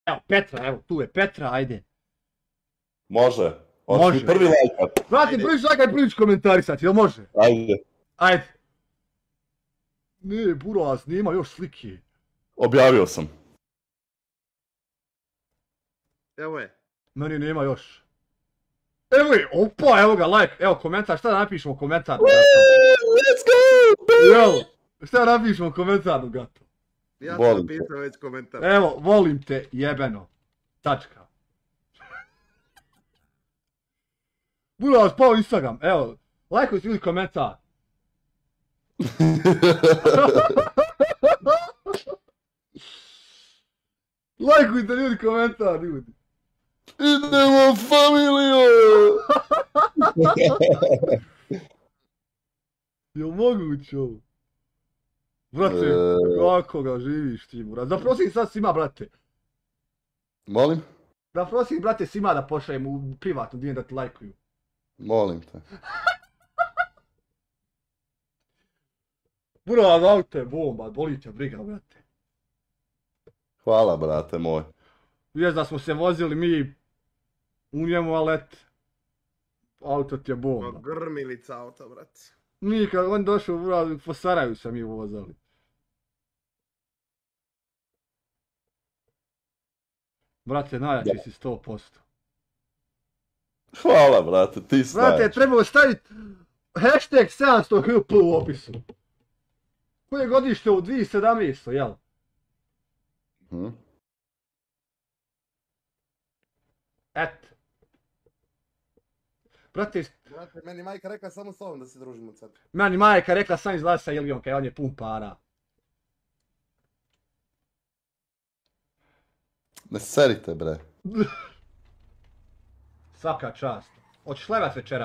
Evo, Petra, evo, tu je Petra, ajde. Može. Hoćeš Može. mi prvi lajkat? Brate, prvi šlagaj, prvi ću komentarisati, jel može? Ajde. Ajde. Ne, Buraz, nema još slike. Objavio sam. Evo je. Meni nema još. Evo je, opa, evo ga, like, evo komentar, šta da napišemo komentar? Let's go! Evo, šta da napišemo komentar, gato? Ja Volim sam te. napisao već komentar. Evo, volim te, jebeno. Tačka. Buraz, pao Instagram, evo, lajkujte ljudi komentar. Lajkujte ljudi komentar, ljudi. Idemo familijo! Jel moguće ovo? Brate, kako ga živiš ti, Buraz? Zaprosim sad svima, brate. Molim? Zaprosim, brate, svima da pošaljem u privatnu dijen da ti lajkuju. Molim te. Buraz, auto je bomba, boli te briga, brate. Hvala, brate moj. Vijest da smo se vozili mi u njemu, ali eto. Auto ti je bomba. Grmilica auto, brate. Mi kad on došao, Buraz, po Sarajevu se mi vozali. Brate, najjači si 100%. Hvala, brate, ti si Brate, najjači. trebalo staviti hashtag 700 HP u opisu. Koje godište u 2017, jel? Mhm. Eto. Brate, Brate, meni majka rekla samo s ovom da se družimo sad. meni majka rekla sam izlazi sa Ilijom, kaj on je pun para. Ne serite, bre. Svaka čast. Hoćeš levat večera?